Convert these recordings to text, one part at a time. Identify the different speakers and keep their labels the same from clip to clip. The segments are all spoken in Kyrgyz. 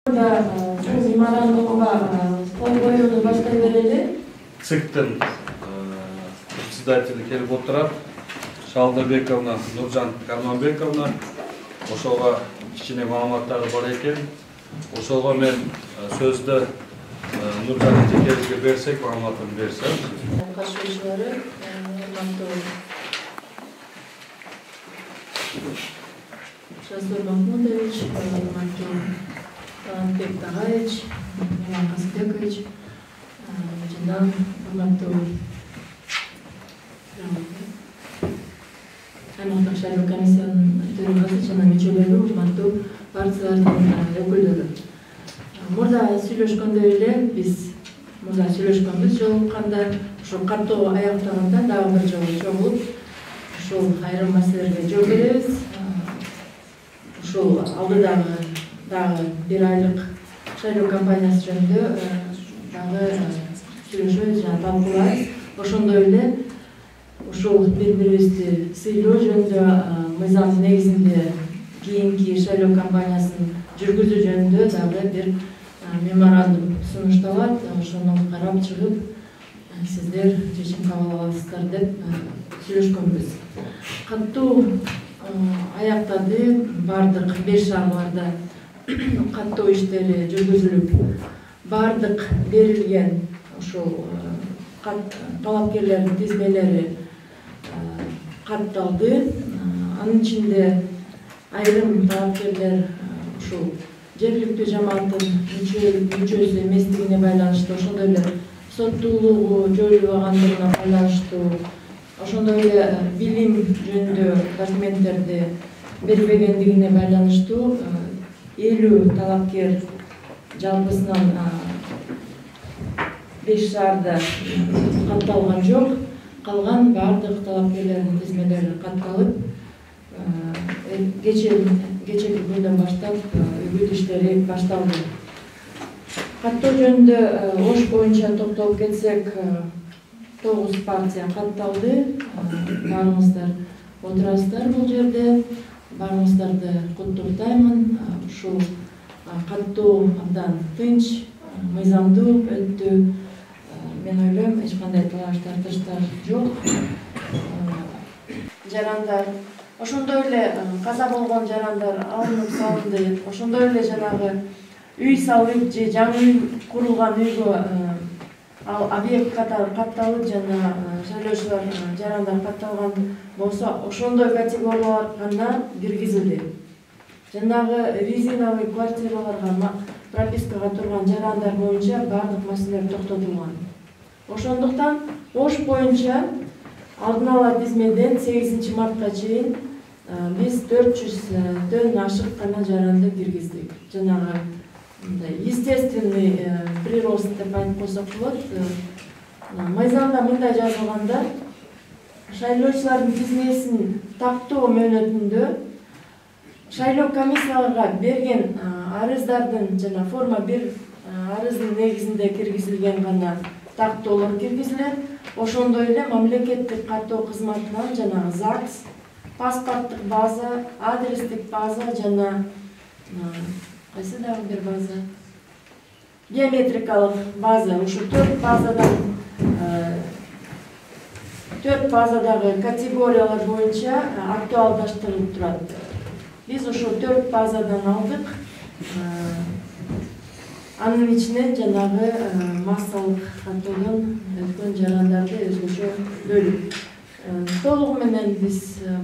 Speaker 1: Меморандумга кол коюуну баштай берели.
Speaker 2: ЦИКтин председатели келип отурат. Шалдабековна Нуржан Карманбековна. Ошого кичине маалыматтары бар экен. Ошого мен сөздү Нуржан эжекебизге берсек, маалыматын берсем.
Speaker 1: Катышуучулары, Шазор Махмудович, Талантбек Тагаевич, Миран Казбекович, жана урматтуу аймактык шайлоо комиссиянын төрагасы жана мүчөлөрү, урматтуу партиялардын өкүлдөрү. Мурда сүйлөшкөндөй эле биз сүйлөшкөнбүз жолукканда, ошо каттоо аяктаганда дагы бир жолу чогулуп, ушул айрым маселелерге жооп беребиз. Ушул алдыдагы дагы бир айлык шайлоо кампаниясы жөнүндө дагы сүйлөшөбүз жана талкуулайбыз. Ошондой эле ушул бири-бирибизди сыйлоо жөнүндө мыйзам негизинде кийинки шайлоо кампаниясын жүргүзүү жөнүндө дагы бир меморандум сунушталат. Ошону карап чыгып, сиздер чечим кабыл аласыздар деп сүйлөшкөнбүз. Каттуу аяктады, бардык 5 шаарларда каттоо иштери жүргүзүлүп, бардык берилген ушул талапкерлердин тизмелери катталды. Анын ичинде айрым талапкерлер ушул жергиликтүү жамааттын мүчөсү эместигине байланыштуу, ошондой эле соттуулугу жоюлбагандыгына байланыштуу, ошондой эле билим жөнүндө документтерди бербегендигине байланыштуу 50 талапкер жалпысынан 5 шаарда катталган жок. Калган бардык талапкерлердин тизмелери катталып, кечеги күндөн баштап үгүт иштери башталды. Каттоо жөнүндө Ош боюнча токтолуп кетсек, 9 партия катталды. Баарыңыздар отурасыздар бул жерде. Баарыңыздарды куттуктаймын. Ушул каттоо абдан тынч, мыйзамдуу өттү. Мен ойлойм, эч кандай талаш тартыштар жок. Жарандар, ошондой эле каза болгон жарандар алынып салынды. Ошондой эле жанагы үй салып же жаңы үй курулган үйгө ал объект катары катталып жана шайлоочулар жарандар катталган болсо, ошондой категориялар гана киргизилди. Жанагы резиновый квартираларга пропискага турган жарандар боюнча бардык маселелер токтотулган. Ошондуктан Ош боюнча алдын ала тизмеден 8 мартка чейин биз 400дөн ашык гана жаранды киргиздик. Жанагы естественный прирост деп айтып койсок болот. Мыйзамда мындай жазылганда, шайлоочулардын тизмесин тактоо мөөнөтүндө шайлоо комиссияларга берген арыздардын жана форма 1 арыздын негизинде киргизилген гана тактоолор киргизилет. Ошондой эле мамлекеттик каттоо кызматынан жанагы ЗАГС, паспорттук база, адрестик база жана кайсы дагы бир база, биометрикалык база, ушу 4 базадагы категориялар боюнча актуалдаштырылып турат. Биз ошо 4 базадан алдык. Анын ичинен жанагы массалык каттоодон өткөн жарандарды өзгөчө бөлүп. Толугу менен биз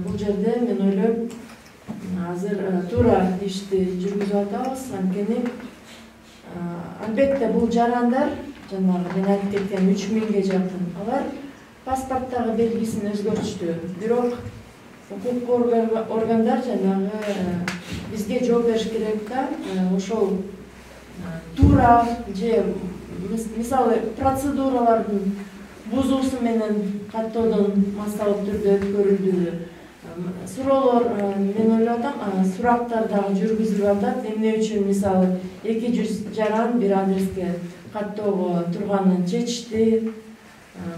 Speaker 1: бул жерде, мен ойлойм, азыр туура ишти жүргүзүп атабыз. Анткени албетте бул жарандар, жанагы мен айтып кеткен 3000ге жакын, алар паспорттагы белгисин өзгөртүштү. Бирок укук органдар жанагы бизге жооп бериш керек да, ошол туура же мисалы процедуралардын бузуусу менен каттоодон массалык түрдө өткөрүлдү. Суроолор, мен ойлоп атам, сурактар дагы жүргүзүлүп атат. Эмне үчүн мисалы 200 жаран бир адреске каттоого турганын чечишти.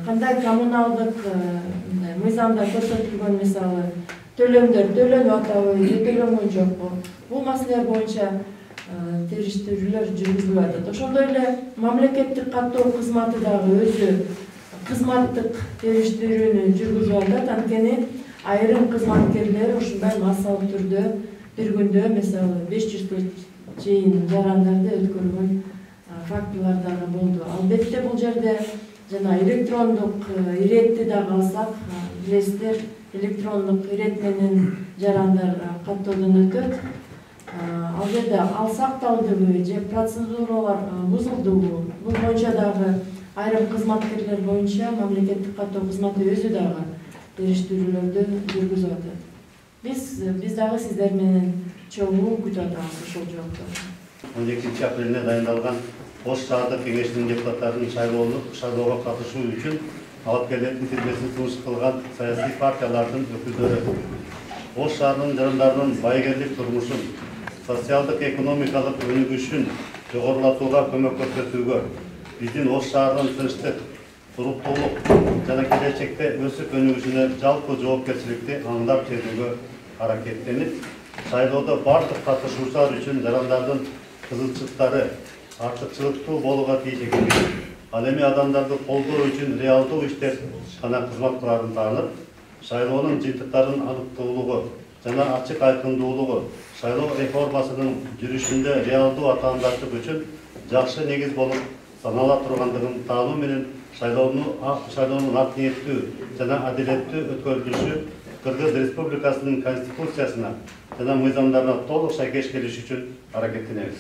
Speaker 1: Кандай коммуналдык мыйзамда көрсөтүлгөн мисалы төлөмдөр төлөнүп атабы же төлөнгөн жокпу? Бул маселелер боюнча териштирүүлөр жүргүзүлүп атат. Ошондой эле мамлекеттик каттоо кызматы дагы өзү кызматтык териштирүүнү жүргүзүп атат. Анткени айрым кызматкерлер ушундай массалык түрдө бир күндө мисалы 500 чейин жарандарды өткөргөн фактылар дагы болду. Албетте бул жерде жана электрондук иретти дагы алсак, билесиздер, электрондук ирет менен жарандар каттоодон өтөт. Ал жерде ал сакталдыбы же процедуралар бузулдубу, бул боюнча дагы айрым кызматкерлер боюнча мамлекеттик каттоо кызматы өзү дагы териштирүүлөрдү жүргүзүп атат. Биз дагы сиздер менен чогуу күтүп атабыз ошол жоопторду.
Speaker 3: 12 апрелде дайындалган Ош шаардык кеңешинин депутаттарын шайлоого катышуу үчүн талапкерлердин тизмесин сунуш кылган саясий партиялардын өкүлдөрү Ош шаарынын жарандарынын байгерлик турмушун, социалдык экономикалык өнүгүшүн жогорулатууга көмөк көрсөтүүгө, биздин Ош шаарынын тынчтык, туруктуулук жана келечекте өсүп өнүгүшүнө жалпы жоопкерчиликти аңдап жетүүгө аракеттенип, шайлоодо бардык катышуучулар үчүн жарандардын кызыкчылыктары артыкчылыктуу болууга тийиш экенин, ал эми адамдарды колдоо үчүн реалдуу иштер жана кызмат кылаарын таанып, шайлоонун жыйынтыктарынын аныктуулугу жана ачык айкындуулугу шайлоо реформасынын жүрүшүндө реалдуу атаандардык үчүн жакшы негиз болуп санала тургандыгын таануу менен шайлоонун ак ниеттүү жана адилеттүү өткөрүлүшү Кыргыз Республикасынын Конституциясына жана мыйзамдарына толук шайкеш келиш үчүн аракеттенебиз.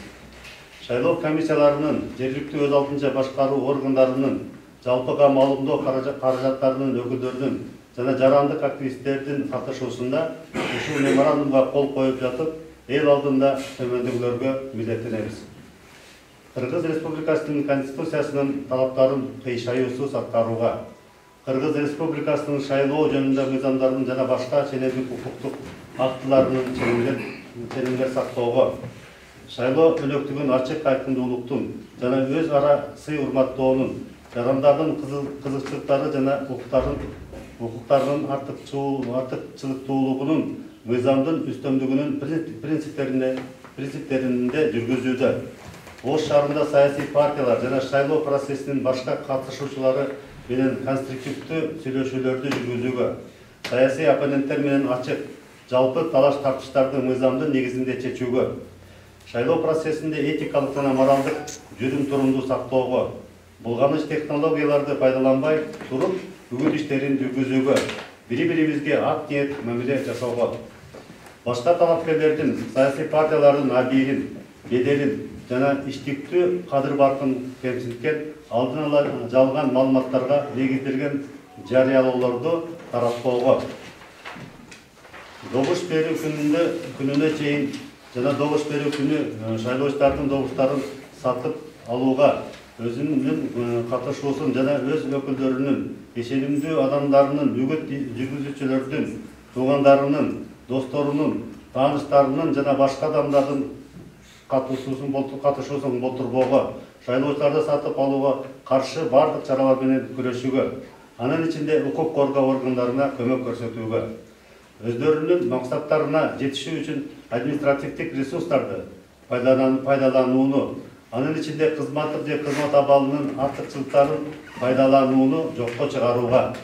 Speaker 3: Шайлоо комиссияларынын, жергиликтүү өз алдынча башкаруу органдарынын, жалпыга маалымдоо каражаттарынын өкүлдөрүнүн жана жарандык активисттердин катышуусунда ушул меморандумга кол коюп жатып, эл алдында төмөндөгүлөргө милдеттенебиз. Кыргыз Республикасынын Конституциясынын талаптарын кыйшаюусуз аткарууга, Кыргыз Республикасынын шайлоо жөнүндө мыйзамдарын жана башка ченемдик укуктук актыларынын ченемдер сактоого, шайлоо өнөктүгүн ачык айкындуулуктун жана өз ара сый урматтоонун, жарандардын кызыкчылыктары жана укуктарынын артыкчылыктуулугунун, мыйзамдын үстөмдүгүнүн принциптеринде жүргүзүүдө, Ош шаарында саясий партиялар жана шайлоо процессинин башка катышуучулары менен конструктивдүү сүйлөшүүлөрдү жүргүзүүгө, саясий оппоненттер менен ачык, жалпы талаш тартыштарды мыйзамдын негизинде чечүүгө, шайлоо процессинде этикалык жана моралдык жүрүм-турумду сактоого, булганыч технологияларды пайдаланбай туруп, үгүт иштерин жүргүзүүгө, бири-бирибизге ак ниет мамиле жасоого, башка талапкерлердин, саясий партиялардын абийирин, беделин жана иштиктүү кадыр-баркын кемсинткен, алдын ала жалган маалыматтарга негизделген жарыялоолорду таратпоого, добуш берүү күнүнө чейин жана добуш берүү күнү шайлоочулардын добуштарын сатып алууга, өзүнүн катышуусун жана өз өкүлдөрүнүн, ишенимдүү адамдарынын, үгүт жүргүзүүчүлөрдүн, туугандарынын, досторунун, тааныштарынын жана башка адамдардын катышуусун болтурбоого, шайлоочуларды сатып алууга каршы бардык чаралар менен күрөшүүгө, анын ичинде укук коргоо органдарына көмөк көрсөтүүгө, өздөрүнүн максаттарына жетишүү үчүн административдик ресурстарды пайдаланууну, анын ичинде кызматтык же кызмат абалынын артыкчылыктарын пайдаланууну жокко чыгарууга,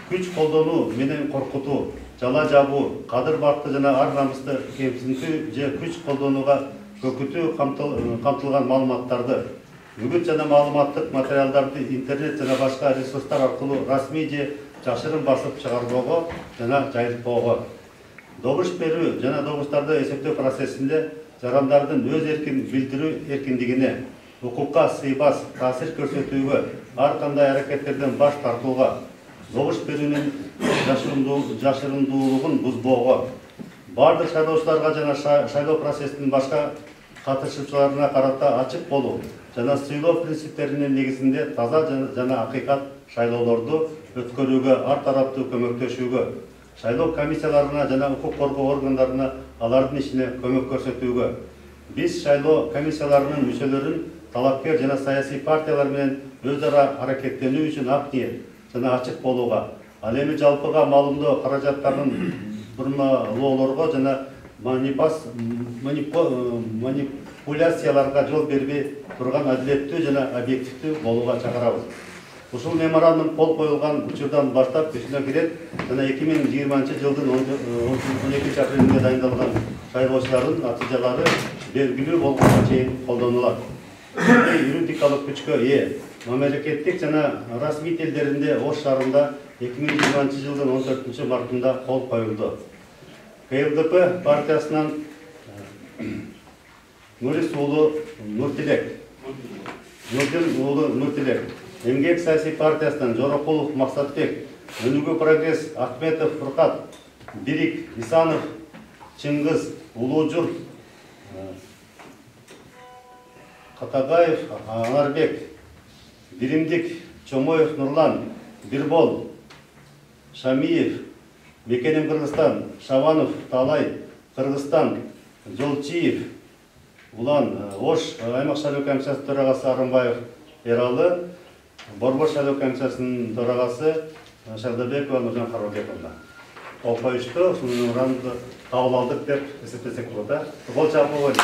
Speaker 3: күч колдонуу менен коркутуу, жала жабуу, кадыр-баркты жана ар-намысты кемсинтүү же күч колдонууга көкүтүү камтылган маалыматтарды, үгүт жана маалыматтык материалдарды интернет жана башка ресурстар аркылуу расмий же жашырын басып чыгарбоого жана жайылтпоого, добуш берүү жана добуштарды эсептөө процессинде жарандардын өз эркин билдирүү эркиндигине, укукка сыйбас таасир көрсөтүүгө, ар кандай аракеттерден баш тартууга, добуш берүүнүн жашырындуулугун бузбоого, бардык шайлоочуларга жана шайлоо процессинин башка катышуучуларына карата ачык болуу жана сыйлоо принциптеринин негизинде таза жана акыйкат шайлоолорду өткөрүүгө ар тараптуу көмөктөшүүгө, шайлоо комиссияларына жана укук коргоо органдарына алардын ишине көмөк көрсөтүүгө, биз шайлоо комиссияларынын мүчөлөрүн талапкер жана саясий партиялар менен өз ара аракеттенүү үчүн ак ниет жана ачык болууга, ал эми жалпыга маалымдоо каражаттарын бурмалоолорго жана манипуляцияларга жол бербей турган адилеттүү жана объективдүү болууга чакырабыз. Ушул меморандум кол коюлган учурдан баштап күчүнө кирет жана 2020 жылдын 12 апрелинде дайындалган шайлоочулардын натыйжалары белгилүү болгонго чейин колдонулат. Юридикалык күчкө ээ мамлекеттик жана расмий тилдеринде Ош шаарында 2020 жылдын 14 мартында кол коюлду. КЛДП партиясынан Нурис уулу Нуртилек, Эмгек саясий партиясынан Жорокулов Максатбек, Өнүгүү прогресс Ахметов Фуркат, Бирик Исанов, Чыңгыз Улуужур, Катагаев Анарбек, Биримдик Чомоев Нурлан, Бирбол Шамиев, Мекенем Кыргызстан, Шабанов Талай, Кыргызстан, Жолчиев, Улан Ош аймак шайлоо комиссиясынын төрагасы Арымбаев Эралы, Борбор шайлоо комиссиясынын төрагасы Шалдабекова Нуржан Карабековна. Кол коюшту, ушул меморандумду кабыл алдык деп эсептесек болот. Кол чапып койгон.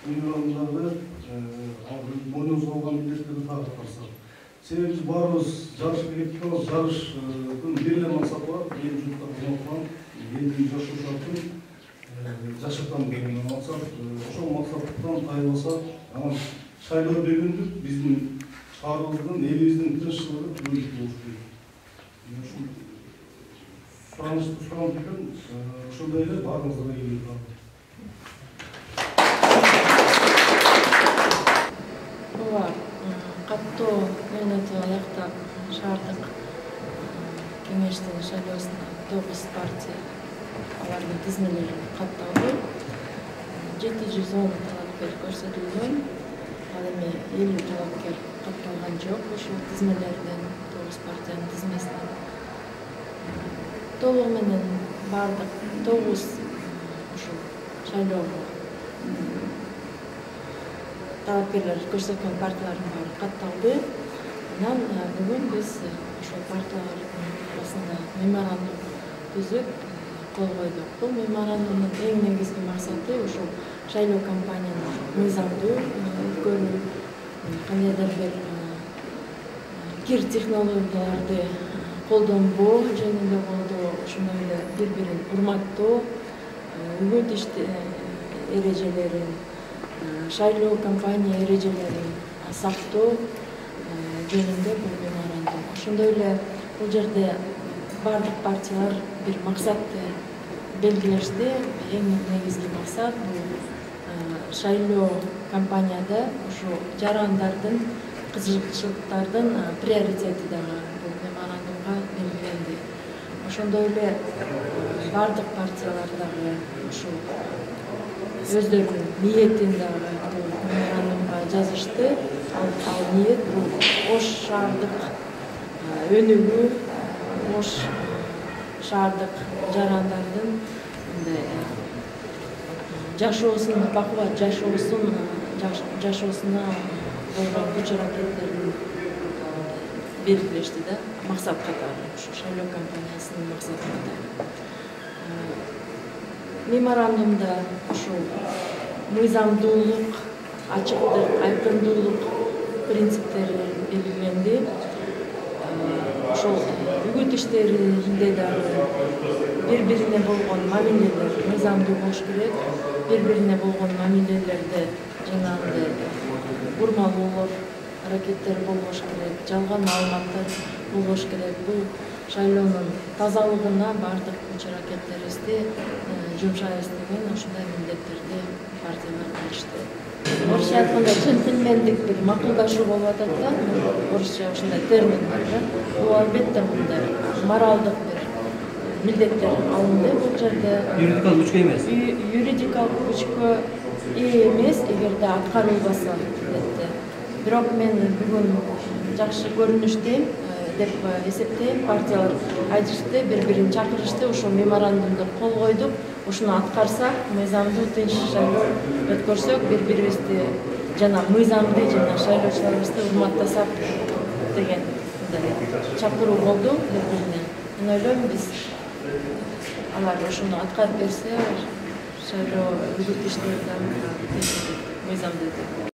Speaker 4: Меморандумдарды мойнубузга алган милдеттерди так аткарсак. Себеби баарыбыз жарышка кетип калабыз. Жарыштын бир эле максаты бар. Эл журтка кызмат кылган, элдин жашоочулардын жашыртам деген максат. Ошол максаттан тайылбасак, анан шайлоо бүгүндүк биздин шаарыбыздын, элибиздин тынччылыгы бүгүндүк болуш керек. Ушул суранышты пикир ошондой эле баарыбызга ийгилик бар.
Speaker 1: Каттоо мөөнөтү аяктап шаардык кеңештин шайлоосуна 9 партия алардын тизмелери катталды. 710 талапкер көрсөтүлгөн. Ал эми 50 талапкер катталган жок ушул тизмелерден 9 партиянын тизмесинен. Толугу менен бардык 9 ушул шайлоого талапкерлер көрсөткөн партиялардын баары катталды. Анан бүгүн биз ошол партиялардын арасында меморандум түзүп кол койдук. Бул меморандумдун эң негизги максаты ушул шайлоо кампанияны мыйзамдуу өткөрүү, кандайдыр бир кир технологияларды колдонбоо жөнүндө болду. Ошондой эле бири-бирин урматтоо, үгүт эрежелерин, шайлоо кампания эрежелерин сактоо жөнүндө бул меморандум. Ошондой эле бул жерде бардык партиялар бир максатты белгилешти. Эң негизги максат бул шайлоо кампанияда ушу жарандардын, кызыкчылыктардын приоритети дагы бул меморандумга белгиленди. Ошондой эле бардык партиялар дагы ушул өздөрүнүн ниетин дагы бул меморандумга жазышты. Ал ниет бул Ош шаардык өнүгүү, Ош шаардык жарандардын жашоосун, бакубат жашоосуна болгон күч-аракеттерин белгилешти да, максат катары, ушу шайлоо кампаниясынын максаты катары. Меморандумда ушул мыйзамдуулук, ачыктык, айкындуулук принциптери белгиленди. Ошол үгүт иштеринде дагы бири-бирине болгон мамилелер мыйзамдуу болуш керек. Бири-бирине болгон мамилелерде жанагындай бурмалоолор, аракеттер болбош керек, жалган маалыматтар болбош керек. Бул шайлоонун тазалыгына бардык күч-аракеттерибизди жумшайбыз деген ошондой милдеттерди партиялар алышты. Орусча айтканда джентльмендик бир макулдашуу болуп атат да, орусча ошондой термин бар да. Бул албетте мындай моралдык бир милдеттер алынды бул жерде.
Speaker 5: Юридикалык күчкө эмес.
Speaker 1: Юридикалык күчкө эмес, эгерде аткарылбаса детти. Бирок мен бүгүн жакшы көрүнүштүү деп эсептейм. Партиялар айтышты, бири-бирин чакырышты, ошол меморандумду кол койдук. Ушуну аткарсак, мыйзамдуу тынч шайлоо өткөрсөк, бири-бирибизди жана мыйзамды жана шайлоочуларыбызды урматтасак деген мындай чакыруу болду депутаттан. Мен ойлойм биз алар ошону аткарып берсе шайлоо үгүт иштери да мыйзамды